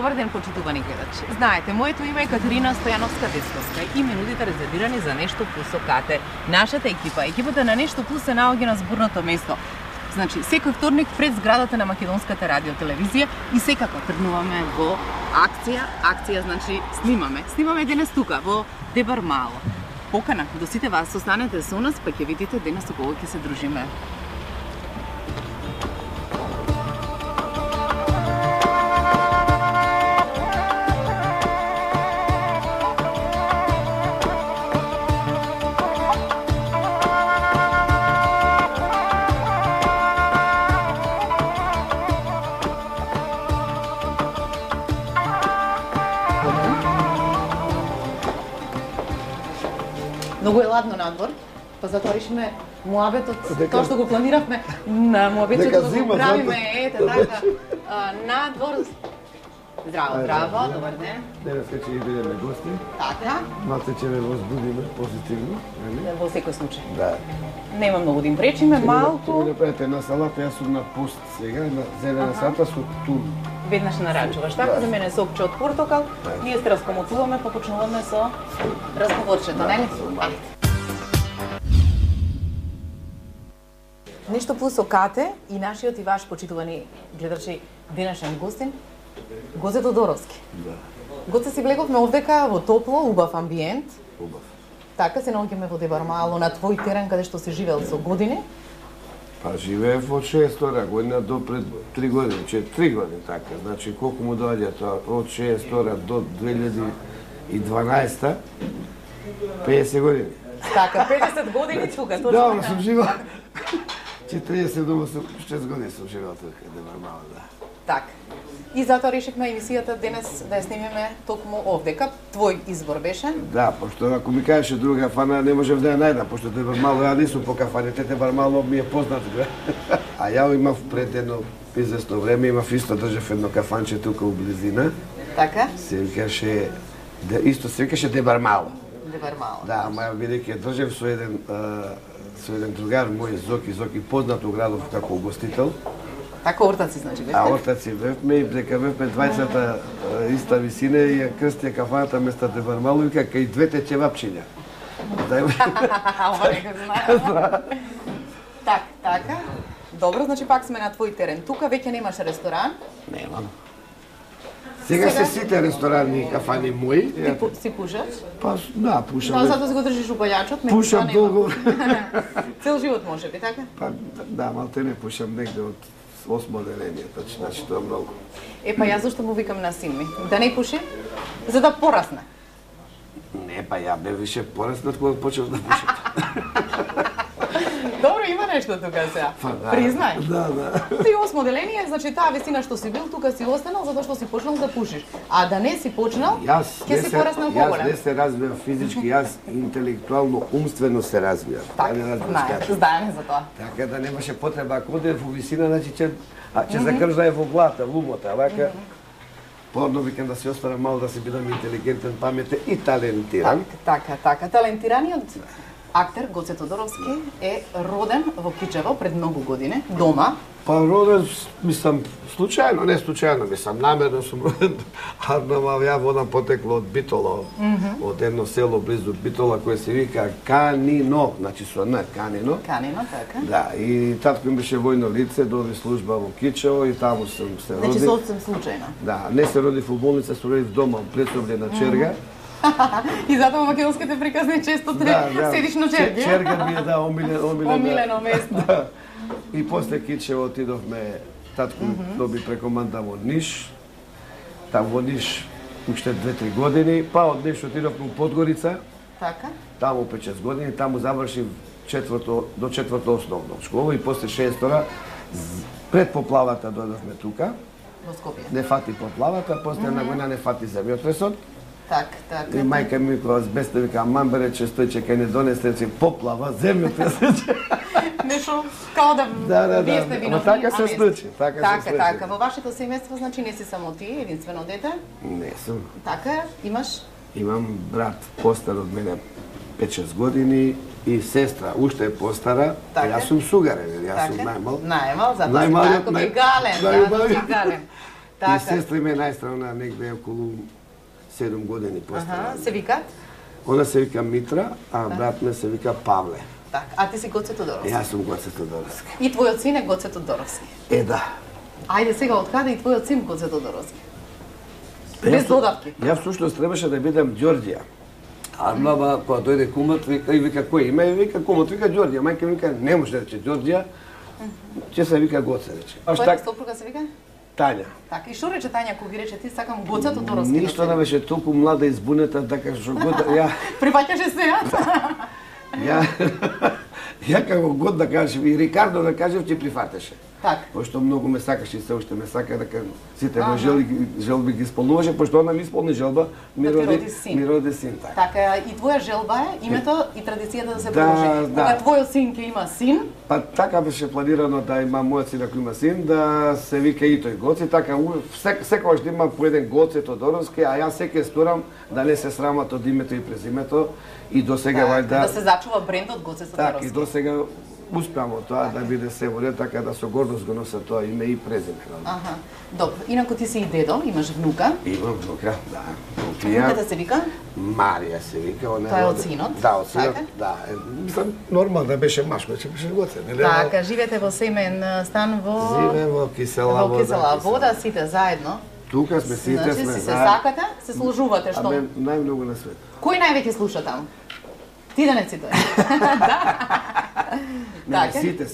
Добар ден, почитувани гледачи. Знаете, моето име е Катерина Стојановска-Десковска и минутите резервирани за Нешто Плюс со Кате. Нашата екипата на Нешто Плюс се наоѓа на зборното место. Значи, секој вторник пред зградата на Македонската радиотелевизија и секако тргнуваме во акција, значи снимаме денес тука во Дебармало. Покана до сите вас, останете со нас, па ќе видите денес со кого ќе се дружиме. Многу е ладно надвор, па затоа решиме муабетот, тоа што го планиравме на муабетот да го правиме, ете така, надвор. Здраво, добар ден. Денес ќе бидеме гости. Така. Малце ќе ве возбудиме позитивно, нели? Во секој случај. Да. Нема многу да им пречиме, малку. Ќе направите на салата, јас сум на пост сега, на зелена салата со тун. Веднаш нарачуваш, така? За мене сокче од портокал. Ние се раскомоцуваме, па почнуваме со разговорчето, нели? Нешто Плюс со Кате и нашиот и ваш почитувани гледачи денешен гостин, Гоце Тодоровски. Да. Гоце си влеговме овдека во топло, убав амбиент. Убав. Така се наоѓаме во Дебармало на твој терен каде што си живеел со години. Па живеев од 6 година до пред 3 години, 3 години така. Значи колку му доаѓа тоа од 6 до 2012 50 години. Така, 50 години тука, точно. Да, сум живеел 40 до 6 години сум живеел тука, Дебармало, да. Така. И затоа решивме емисијата денес да ја снимиме токму овдека. Твој избор беше? Да, пошто ако ми кажеше друга кафана, не можев да ја најдам, пошто Дебармало ја не сум по кафаните, Дебармало ми е познат. А ја имав пред едно известно време, имав исто држав едно кафанче тука у близина. Така? Се викаше, исто се викаше Дебармало. Дебармало. Да, ама ја бидејќи држав со еден другар мој Зоки познат у градов како угостител. Така ортаци, значи, бевте? А ортаци бевме и дека бевме двајцата иста висина и ја крстија кафаната место Дебармало и вика кај двете чевапчиња. Ова не го знае. Така. Добро, значи пак сме на твој терен. Тука веќе немаш ресторан? Немам. Сега се сите ресторани и кафани мои. Ти си пушаш? Па, да, пушам. Да, затоа си го држиш у палјачот? Пушам долго. Цел живот може би, така? Па, да, малте не пушам негде од 8 оделение, значи тоа многу. Па јас зашто му викам на син ми? Да не пуши? За да порасне. Не, па ја бе више пораснат кога почнав да пушам. Добро, има нешто тука сега. Признај. Да. Ти 8 оделение, значи таа висина што си бил, тука си останал затоа што си почнал да пушиш. А да не си почнал, ќе си пораснал поголем. Јас не се развивам физички, јас интелектуално, умствено се развивам. Знаеме за тоа. Така да немаше потреба, ако одев во висина, значи ќе закржае во блата, лумота, вака. Порно викам да се останам мало да се бидам интелигентен, паметен и талентиран. Така. Талентираниот актер Гоце Тодоровски е роден во Кичево пред многу години, дома. Па роден, мислам, случајно, не случајно, мислам, намерно сум роден, ја водам потекло од Битола, од едно село близу Битола, кое се вика Канино, значи со Н, Канино. Канино, така. Да, и татко им беше војно лице, доби служба во Кичево и таму сум се родив. Значи сосем случајно. Да, не се родив во болница, се родив дома, пресобле на Черга. И затоа македонските приказни често седиш на Черги. Черга ми е, да, омилено место. Да. И после Кичево отидовме, татко доби прекоманда во Ниш. Там во Ниш уште 2-3 години, па од Ниш отидовме во Подгорица. Така. Таму 5-6 години, таму завршив до 4-то основно школа и после 6-тора пред поплавата дојдовме тука. Во Скопје. Не фати поплавата, после една година не фати земјотресот. Така. И мајка ми кога збесна вика мамбере че стојче кај не донесе че поплава земјотрес. Нешто као да вие сте виновни. Така се случи, Така. Во вашето семејство значи не си само ти, единствено дете? Не сум. Така, имаш? Имам брат постар од мене 5-6 години и сестра уште е постара. Така. Јас сум сугарен, јас сум најмал. Најмал, затоа си така гален. И сестра ми е најстарна, негде околу 7 години постара. Се викат? Она се вика Митра, а брат ме се вика Павле. Так, а ти си Гоце Тодоровски? Јас сум Гоце Тодоровски. И твојот син е Гоце Тодоровски? Да. Ајде сега, од каде и твојот син Гоце Тодоровски? Без додавки. Јас всушност требаше да бидам Ѓорѓија. Армава, кога дојде кумот, вика кој име? Вика кумот, вика Ѓорѓија. Мајка вика не може да рече Ѓорѓија, ќе се вика Гоце рече. Твојата сопруга се вика? Тања. Така, и што рече Тања кога ги рече ти сакам Гоце Тодоровски? Ништо не беше толку млада и збунета, така што ја Прифаќаше се, Ја како год да кажеш и Рикардо да кажеш ќе прифатеше. Так. Пошто многу ме сакаше и се уште ме сака дека сите мои желби ги исполнуваше, пошто она ми исполни желба, ми роди син. Така, и твоја желба е името и традицијата да се продолжи. Кога твојот син ќе има син? Па така беше планирано да има мојот син ако има син, да се вика и тој Гоце, така секогаш да има по еден Гоце Тодоровски, а јас секој сторам да не се срамат од името и презимето и до сега вајда да се зачува брендот Гоце Тодоровски. Така, и до сега успеам од тоа да биде се во ред, така да со гордост го нося тоа име и презиме. Добро, инаку ти си и дедо, имаш внука? Имам внука, да. Внуката се вика? Марија се вика. Тоа е од синот? Да, од синот, да. Мислам, нормално да беше машко, че беше Гоце. Така, живеете во семен стан во... Живеем во Кисела вода. Во Кисела вода, сите заедно? Тука сме, сите сме. Значи, се сакате, се служувате, што? Абе, најмногу на свет. Кој највеќе слуша таму? Ти да не цитуваш. Не, сите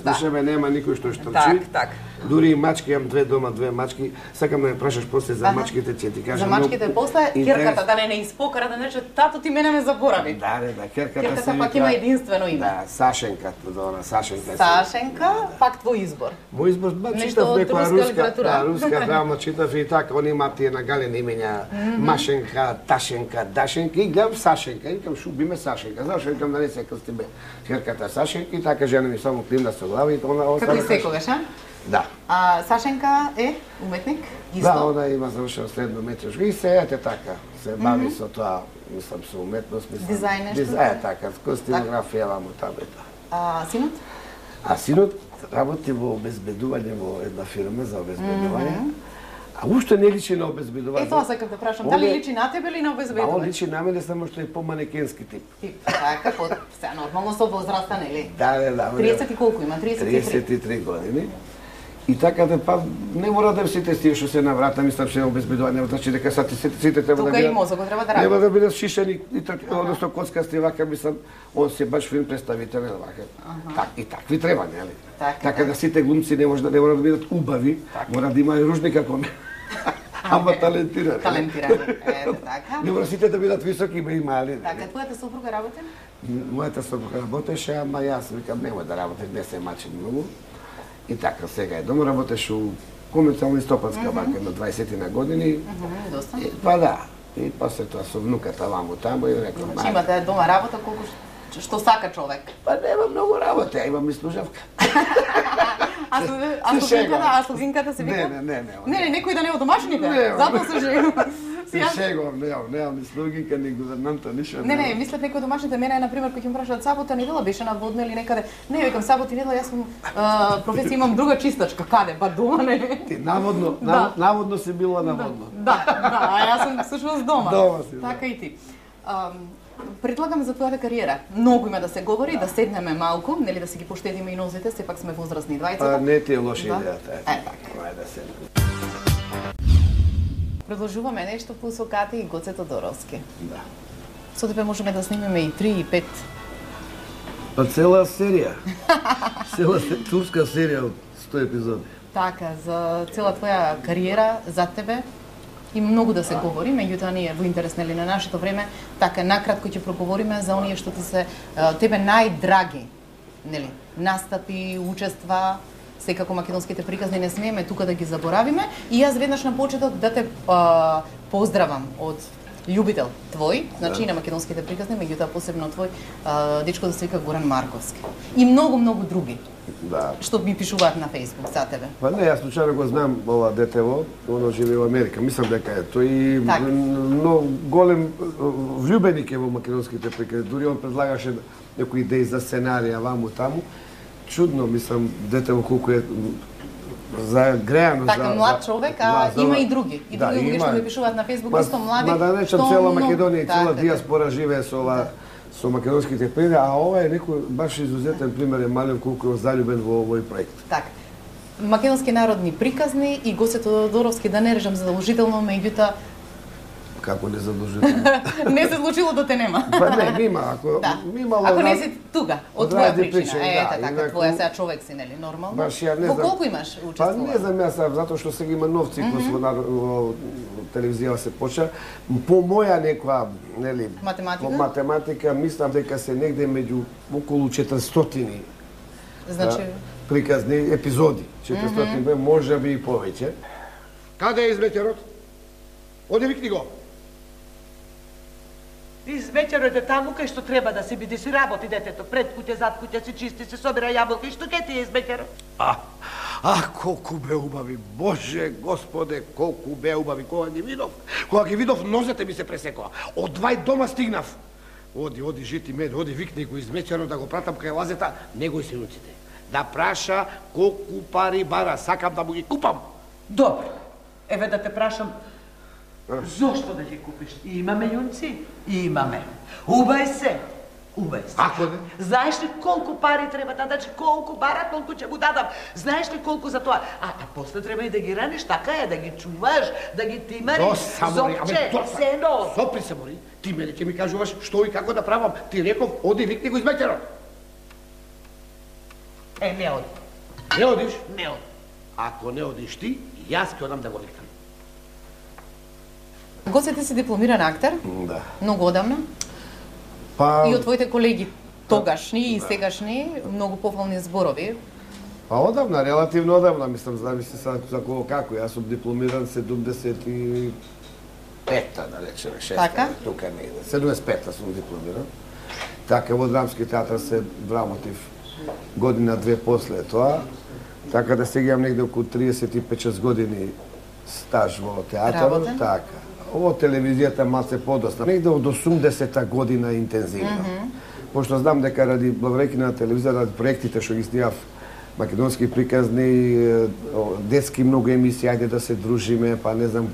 слушаме, нема никој што штрчи. Так. Дури и мачки, имам две мачки. Сакам да ме прашаш после за мачките, ќе ти кажам. За мачките после, керката да не испокара, да не рече, тато ти мене ме заборави. Да, керката се пак има единствено име. Да, Сашенка, Сашенка. Сашенка, пак твој избор. Мој избор, читав некоја руска драма, читав и така, они имаат тие нагалени имења, Машенка, Ташенка, Дашенка, и гледам Сашенка, и викам, шуби ме Сашенка, зашто викам да не се крстиме керката Сашенка, и така жена ми само климна со глава и тоа како и секогаш, а? Да. А Сашенка е уметник? Исто? Да, она има завршено средно уметничко и се ете така, се бави со тоа, мислам, со уметност, мислам. Дизајн нешто? Дизајн, така, со стилографија, вамо таму и тоа. А синот? А синот работи во обезбедување во една фирма за обезбедување. А уште не личи на обезбедување. Тоа сакам да прашам, дали личи на тебе или на обезбедување? Он личи на мене, само што е поманекенски тип. Така, се нормално со возраста, нели? Да. 30 и колку има? 33 години. И така да па не мора да сите тие што се на врата, мислам што е обезбедување, значи дека сите треба да бидат. Тука и мозокот треба да работи. Треба да бидат шишени и односно коцкасти вака, мислам, он се баш филм представителен вака. Так и такви треба, нели? Така да сите глумци не може да бидат убави, мора да има и ружни како мене. Ама талентирани. Така. Не мора сите да бидат високи, има и мали. Така, твојата сопруга работи? Мојата сопруга работеше, ама јас викам нема да работи, не се мачи многу. И така, сега е дома, работеш у комерцијална стопанска банка на 20 на години. Доста. Па да, и после тоа со внуката ваму таму и рекам... Значи имате дома работа колку што сака човек? Па нема многу работа, ја имам и служавка. А слугинката се вика? Не, некој да не е од домашните, затоа се жегувам. Се шегувам, немам ни слугинка, ни гувернанта, ништо. Не, мислев некој од домашните, мене на пример кој ќе ме прашаат сабота недела беше на водна или некаде. Не, викам сабота недела, јас сум професија, имам друга чистачка, каде? Ба дома не. Ти наводно си била наводно. Да, а јас сум всушност дома. Дома си. Така и ти. Предлагам за твојата кариера. Многу има да се говори, да седнеме малку, нели да си ги поштедиме и нозите, сепак сме возрастни двајцата. Не ти е лоша идејата. Така. Да се. Продолжуваме нешто по Сокати и Гоце Тодоровски. Да. Со тебе можеме да снимеме и 3 и 5. Па цела серија. Цела турска серија од 100 епизоди. Така, за цела твоја кариера, за тебе, има многу да се говори, меѓутоа ние во интерес нели на нашето време, така накратко ќе проговориме за оние што ти се тебе најдраги, нели, настапи, учества, секако македонските приказни не смееме тука да ги заборавиме и јас веднаш на почеток да те поздравам од љубител твој, значи и на македонските приказни, меѓутоа посебно твој дечко да се вика Горан Марковски и многу други. Да. Што ми пишуваат на Facebook за тебе? Па не, јас случајно го знам ова детево, оно живее во Америка. Мислам дека е тој но голем влюбеник е во македонските приказни. Дури он предлагаше некои идеи за сценарија ваму таму. Чудно, мислам, детево колку е за греано. Така, млад човек, а има и други. И други луѓе што ми пишуваат на Facebook, исто млади. Ма да речам, цела Македонија и цела диаспора живее со македонските примери, а ова е некој баш изузетен пример, е мален колку е залюбен во овој проект. Така. Македонски народни приказни и Гоце Тодоровски, да не режам задолжително, меѓутоа Како не задолжително? Не се случило да те нема. Па не, мима, ако не си тука, од твоја причина. Така, твоја сега човек си, нели, нормално? Баш ја не знам. Во колку имаш учествувано? Па не знам јас, затоа што сега има нов циклус во телевизија се почна. По моја некоја, нели, математика, мислам дека се негде меѓу околу 400 приказни епизоди. 400, може би и повеќе. Каде е изметерот? Оди викни го. Извечерот е таму кај што треба да се биде, си работи детето, пред куќе, зад куќе, си чисти, се собира јаболка и што ке ти е извечерот? Колку бе убави, Боже, Господе, колку бе убави, кога ги видов, нозете ми се пресекоа. Од двај дома стигнав. Оди, жити мен, оди, викни го извечерот да го пратам кај лазета, него и синуците. Да праша колку пари бара, сакам да му ги купам. Добро, еве да те прашам, зошто да ги купиш? Имаме јунци? Имаме. Убај се. Ако не? Знаеш ли колку пари треба да дадеш, колку бара, толку ќе му дадам. Знаеш ли колку за тоа? А после треба и да ги раниш, така е, да ги чуваш, да ги тимариш. Зопче, сено. Сопри се, мори. Ти мене ќе ми кажуваш што и како да правам. Ти реков, оди, викни го измеќерот. Не оди. Не одиш? Не оди. Ако не одиш ти, јас ќе одам да го викнам. Гоце, ти си дипломиран актер? Да. Многу одамна? Па... И од твоите колеги тогашни и сегашни, многу пофални зборови? Па одамна, релативно одамна, мислам, зависи за кого како. Јас сум дипломиран 75-та, да речеме, 6-та. Така? Тука негде. 75-та сум дипломиран. Така, во драмски театар се вработив година-две после тоа. Така да сега имам негде околу 35-6 години стаж во театарот. Така. Ово телевизијата малце подоста. Негде од 80-та година интензивно. Пошто знам дека ради благодарејќи на телевизија, ради проектите што ги снимав, македонски приказни, детски многу емисии, ајде да се дружиме, па не знам,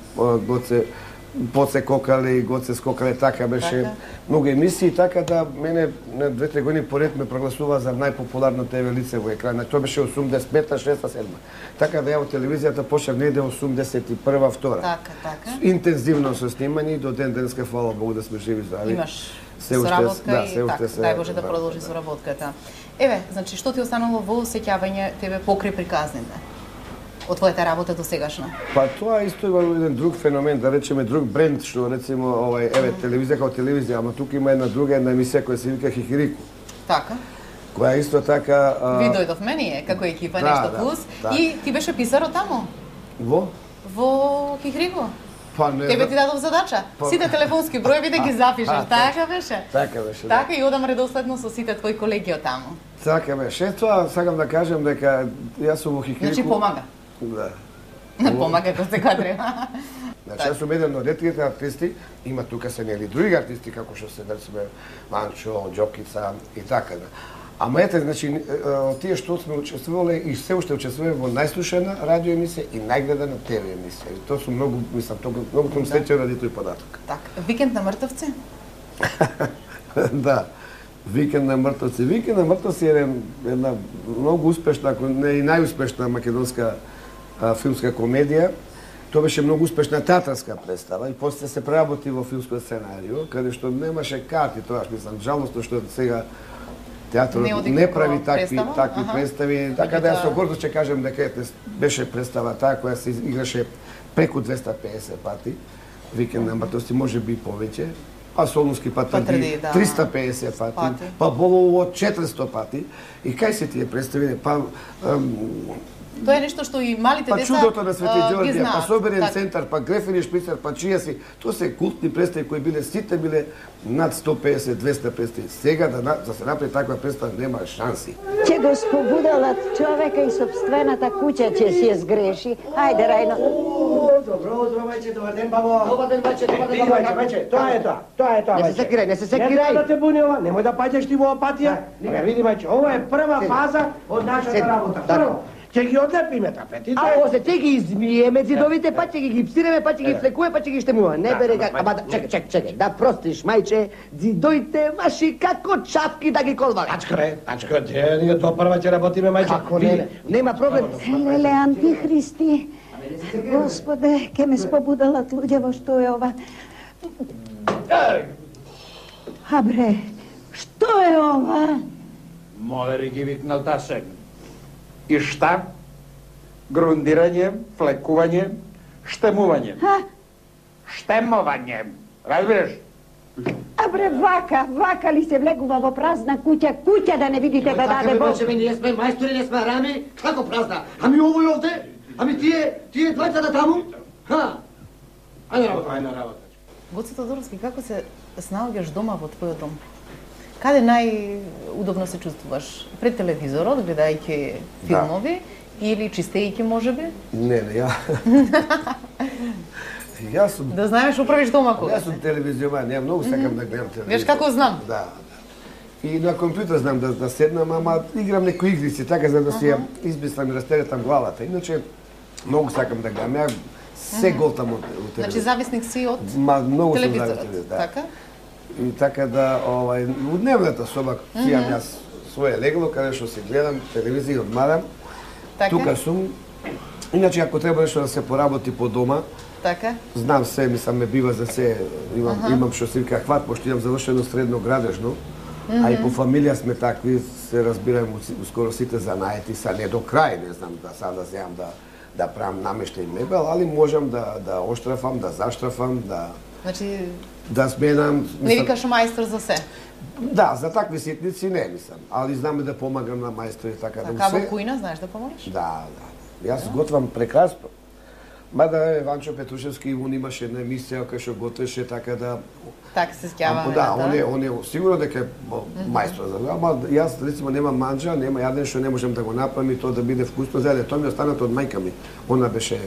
Поце кокале, Гоце скокале, така беше многу емисии, така да мене на 2-3 години поред ме прогласува за најпопуларно ТВ лице во екран. Тоа беше 85-та, 6-та, 7-та. Така да ја во телевизијата почнав негде 81-та, 2-та. Така. Интензивно со снимање и до ден денеска, фала Богу да сме живи здрави. Имаш соработка и така, дај Боже да продолжи соработката. Еве, значи, што ти останало во сеќавање тебе покрај приказните? Од твојата работа до сегашна? Па тоа исто има еден друг феномен, да речеме друг бренд, што рецимо телевизија како телевизија, ама тука има една емисија која се вика Хихирику. Така. Која исто така Ви дојдов мене како екипа Нешто плюс и ти беше писар таму. Во Хихирику. Па не. Тебе ти дадов задача. Сите телефонски броеви да ги запишеш, така беше. Така беше. Така и одам редоследно со сите твои колеги од таму. Така беше. Тоа сакам да кажам дека јас сум во Хихирику. Значи помага. Да. Помага кој се кадре. Значи, јас сум еден од ретките артисти, има тука се нели други артисти, како што се, речеме, Манчо, Џокица и така. Ама ете, значи, тие што сме учествувале и се уште учествуваме во најслушана радио емисија и најгледана ТВ емисија. И тоа сум многу, мислам, многу сум среќен ради тој податок. Така, Викенд на мртовци? Да. Викенд на мртовци. Викенд на мртовци е една многу успешна, ако не и најуспешна македонска филмска комедија. Тоа беше многу успешна театарска представа и после се преработи во филмско сценарио, каде што немаше карти, тоа мислам, жалосно што сега театарот не прави такви представи, така да ја со гордост ќе кажам дека беше представа таа која се играше преку 250 пати, Викенд на мртовци, може би повеќе, па Солунски патради 350 пати, па Болово 400 пати, и кај се тие представи, па Тоа е нешто што и малите деца чудото на Свети Ѓорѓе, па Соберен так. центар, па Грефини шпицар, па чија си, тоа се култни представи кои биле, сите биле над 150-200 представи. Сега да се направи таква представа нема шанси. Ќе го спобудалат човека и собствената куќа ќе си ја сгреши. Ајде, Рајно. Добро утро, мајче, добар ден, бабо. Добар ден, мајче, мајче, тоа е тоа, Не се секирај, не се секирај. Не да те буни ова, немој да паѓаш ти во апатија. Види, мајче, ова е прва фаза од нашата работа. Ќе ги одлепиме тапетите. А после ќе ги измиеме зидовите, па ќе ги гипсираме, па ќе ги флекуе, па ќе ги штемуваме. Не бере как, ама чекај, да простиш, мајче, зидоите ваши како чапки да ги колвале. Тачкре, ние допрва ќе работиме, мајче. Како не, нема проблем. Леле, антихристи. Господе, ке ме спобудалат луѓе во што е ова. А бре, што е ова? Молери ги викнал тасен. И шта? Грундирање, флекување, штемување. Штемување. Разбираш? А бре, вака ли се влегува во празна куќа да не видите да даде Бог? Ние сме мајстори, не сме рами, како празна? Ами овој овде? Ами тие двајцата таму? Ајде работа. Гоце Тодоровски, како се снаоѓаш дома во твојот дом? Каде најудобно се чувствуваш? Пред телевизорот, гледајќи филмови или чистејќи можеби? Не, јас сум... Да знаеш, управиш дома кога? Јас сум телевизиоман, ја многу сакам да гледам телевизија. Веш како знам? Да. И на компјутер знам да седнам, ама играм некои игрици, така за да си ја измислам и растеретам главата. Иначе, многу сакам да гледам. Ја се голтам од телевизија. Значи зависник си од многу телевизорот, така? И така да, у дневната соба си имам јас своје легло, каде што се гледам телевизија и одмарам. Тука сум. Иначе, ако треба нешто да се поработи по дома, така? Знам се, мислам, ме бива за се, имам што се вика хват, пошто имам завршено средно градежно, а и по фамилија сме такви, се разбираме скоро сите занаети, са не до крај, не знам да сада земам да правам намештај мебел, али можам да оштрафам, да заштрафам, Значи... да сменам... Не викаш мајстор за се? Да, за такви ситници не, мислам, али знаме да помагам на мајстори, така да Така во кујна знаеш да помогнеш? Да. Јас готвам прекрасно. Мада Ванчо Петрушевски, он имаше една емисија кај што готвеше така да... Така се скјаваме. Да, он е сигурно дека е мајстор за тоа, ама јас рецимо немам манџа, нема јаден што не можам да го направам и тоа да биде вкусно за јаде. Тоа ми останато од мајка ми. Она беше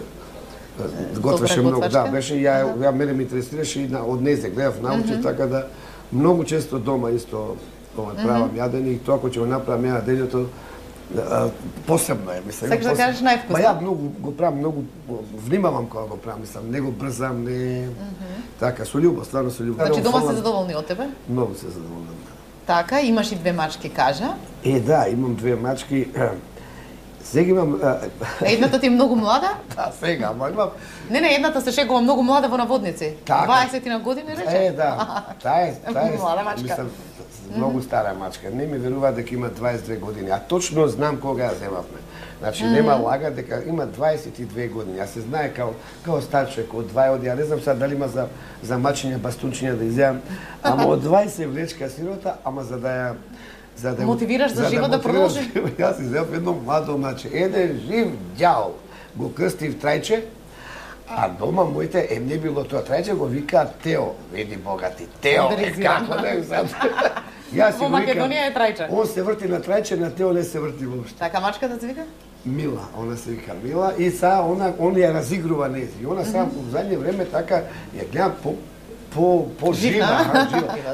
готвеше многу, да, беше ја мене ме интересираше и од незе гледав научи, така да многу често дома исто правам јадење и тоа кога ќе го направам ја денето посебно е, мислам. Сакаш да кажеш највкусно? Па ја многу го правам, многу внимавам кога го правам, мислам, не го брзам, не... Така, со љубов, стварно со љубов. Значи дома се задоволни од тебе? Многу се задоволни. Така, имаш и две мачки, кажа. Да, имам две мачки. Сега имам... Едната ти е многу млада? Да, сега, ама имам... Не, едната се шегува многу млада во наводници. 20 на години, рече? Да. Таа е... Млада мачка. Мислам, многу стара мачка. Не ми верува дека има 22 години, а точно знам кога ја земавме. Значи, нема лага дека има 22 години. Јас се знае као стар човек, од 2 оди, ја не знам сега дали има за мачиња, бастунчиња да изјавам, ама од 20 влечка сирота, ама за да мотивираш за живот да продолжи. Јас изјавам едно младо маче, еден жив ѓаол, го крстив Трајче, а дома моите не било тоа Трајче, го викаат Тео, види богати, Тео, како не знам. Во Македонија е Трајче. Он се врти на Трајче, на Тео не се врти воопшто. Така мачката се вика? Мила, она се вика Мила и са он ја разигрува нези. И она сега во задње време така ја гледам по жива,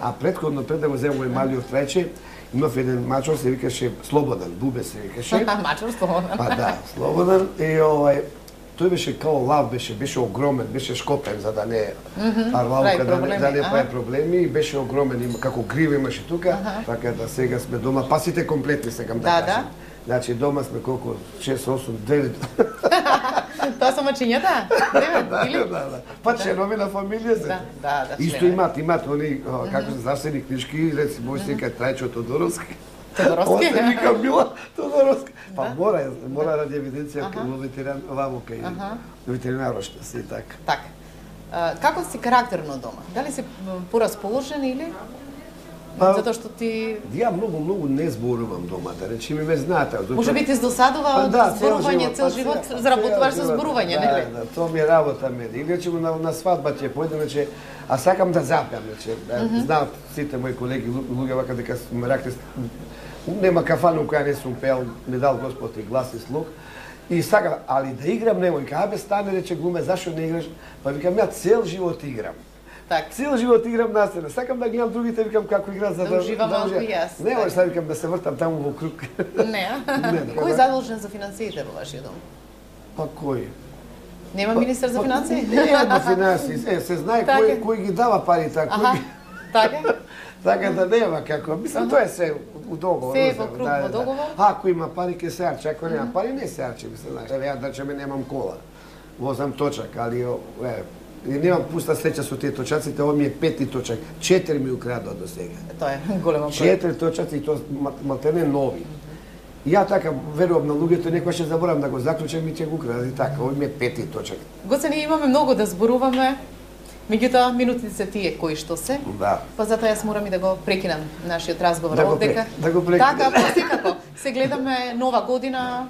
а предходно пред да го земам мој малиот Трајче, имав еден мачор, се викаше Слободан, Бубе се викаше. Мачор Слободан. Па да, Слободан и тој беше као лав, беше огромен, беше шкопен за да не арлаука, да не прави проблеми, и беше огромен, има како грива имаше тука, така да сега сме дома, па сите комплетни сакам да кажам. Значи дома сме колку 6, 8, 9. Тоа со мачињата? Да. Па членови на фамилија се. Да. Исто имат они како се зарсени книжки, рецимо се вика Трајчо Тодоровски. Тодоровски? Се вика Мила Тодоровски. Па мора ради евиденција во ветеринар, вамо кај ветеринарот што си така. Така. Како си карактерно дома? Дали си порасположен или затоа што ти... Ја многу не зборувам дома, да речеме, ме знаете. Може би ти издосадува од зборување цел живот, заработуваш со зборување, нели? Да, тоа ми е работа мене. Или речеме на свадба ќе појдем, а сакам да запеам, знаат сите мои колеги, луѓе вака дека ме ракте, нема кафана која не сум пеал, ми дал Господ и глас и слух. И сакам, али да играм немој, абе стане, рече глуме, зашо не играш? Па викам, ја цел живот играм. Така. Цел живот играм на сцена. Сакам да гледам другите, викам како играат за да уживам малку и јас. Не, може викам да се вртам таму во круг. Не. Кој задолжен за финансиите во вашиот дом? Па кој? Нема министер за финансии? Нема финансии, се знае кој ги дава парите, кој. Така? Така да нема како. Мислам тоа е се у договор. Се во круг во договор. Ако има пари ќе се арчи, ако нема пари не се арчи, мислам, знаеш. Ја да чеме немам кола. Возам точак, али немам пуста среќа со тие точаците, ова ми е 5-ти точак. 4 ми украдоа до сега. Тоа е голема проблем. 4 точаци и тоа малтене нови. Ја така верувам на луѓето, некој ќе заборам да го заклучам и ќе го украдат и така. Ова ми е 5-ти точак. Гоце, ние имаме многу да зборуваме. Меѓутоа, минутите се тие кои што се. Да. Па затоа јас морам и да го прекинам нашиот разговор овдека. Да го прекинам. Така, па секако. Се гледаме нова година,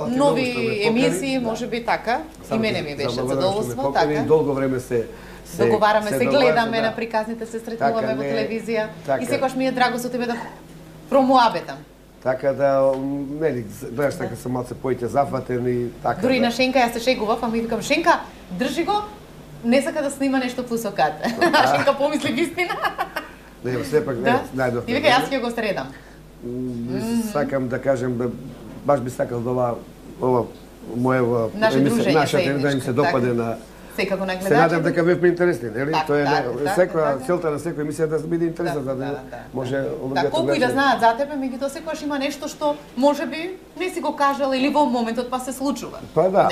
нови емисии, може би така. И мене ми беше задоволство, така. Долго време се договараме, се гледаме на приказните, се сретнуваме во телевизија. И секогаш ми е драго со тебе да промоабетам. Така да, нели, знаеш, така сам малце поите зафатен и така. Дури на Шенка јас се шегував, а ми викам, Шенка, држи го, не сака да снима нешто пусокате. Шенка помисли вистина. Не, сепак не, најдов. И вика, јас ќе го средам. Сакам да кажем, баш би сакал да ова моева нашата да им се допаде на секако на гледачите. Се надам дека бевме интересни, нели? Тоа е секоја целта на секоја емисија да биде интересна, за да може луѓето колку и да знаат за тебе, меѓутоа секогаш има нешто што можеби не си го кажал или во моментот па се случува. Па да.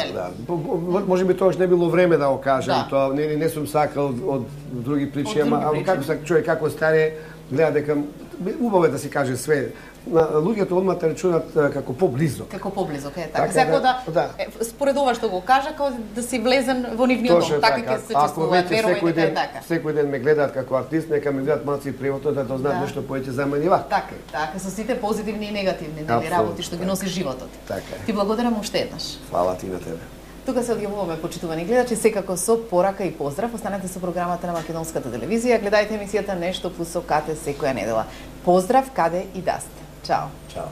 Можеби тоа не било време да го кажам, тоа не сум сакал од други причини, ама како човек како старе гледа дека убаво е да се каже све. Луѓето одма те рачунат како поблизо. Како поблизо, така. Секој да според ова што го кажа, како да си влезен во нивниот дом, така ќе се чувствуваат, верувај дека е така. Секој ден ме гледаат како артист, нека ме гледаат малци приватно да знаат нешто повеќе за мене вака. Така, со сите позитивни и негативни работи што ги носи животот. Така. Ти благодарам уште еднаш. Фала ти на тебе. Тука се одјавуваме, почитувани гледачи, секако со порака и поздрав. Останете со програмата на Македонската телевизија, гледајте емисијата Нешто пусокате секоја недела. Поздрав каде и да сте. Чао. Чао.